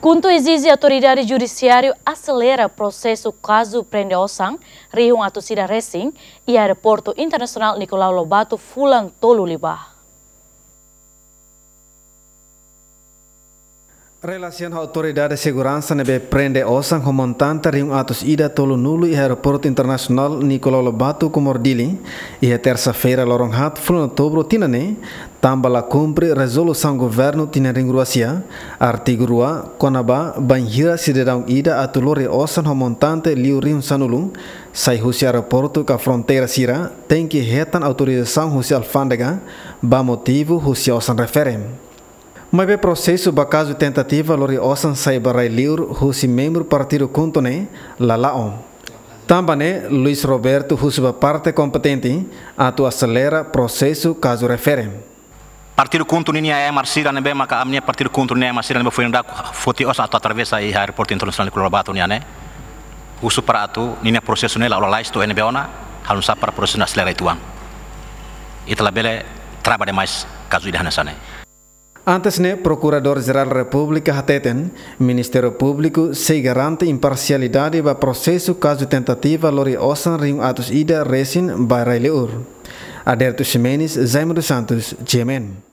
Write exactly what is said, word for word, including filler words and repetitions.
KHUNTO ezije Autoridade Judisiáriu aselera prosesu kazu prende osan rihun atus ida resin iha Aeroportu Internasionál Nicolau Lobato fulan tolu liubá. Relasiona ho autoridade seguransa ne'ebé prende osan ho montante rihun atus ida tolunulu iha Aeroportu Internasionál Nicolau Lobato, Comoro, Dili, iha tersa-feira loron haat fulan Outubru tinan ne'e, tanba la kumpre rezolusaun governu tinan rihun rua sia, artigu rua, kona-ba bainhira sidadaun ida atu lori osan ho montante liu rihun sanulu, sai husi aeroportu ka fronteira sira, tenke hetan autorizasaun husi alfándega, ba motivu husi osan refere. Maibé prosesu ba kazu tentativa lori osan sai ba rai liur husi membru partidu KHUNTO ne'e la la'o. Tanba ne'e, Luis Roberto husu ba parte kompetente atu aselera prosesu kazu refere. Partidu KHUNTO ninia ema sira ne'ebé maka ami-nia partidu KHUNTO ninia ema sira ne'ebé foin daudauk foti osan atu atravesa iha Aeroportu Internasionál Nicolau Lobato nian ne'e. Husu para atu ninia prosesu ne'e la'o lalais to'o iha ne'ebé ona, halo nu'usá para prosesu ne'e aselera uitoan. Ita labele trava demais kazu ida hanesan ne'e. Antes ne'e, Prokuradór-Jerál Repúblika hateten, Ministériu Públiku sei garante imparsialidade ba prosesu kazu tentativa lori osan rihun atus ida resin ba rai liur. Aderito Ximenes, Jaime dos Santos, G M N.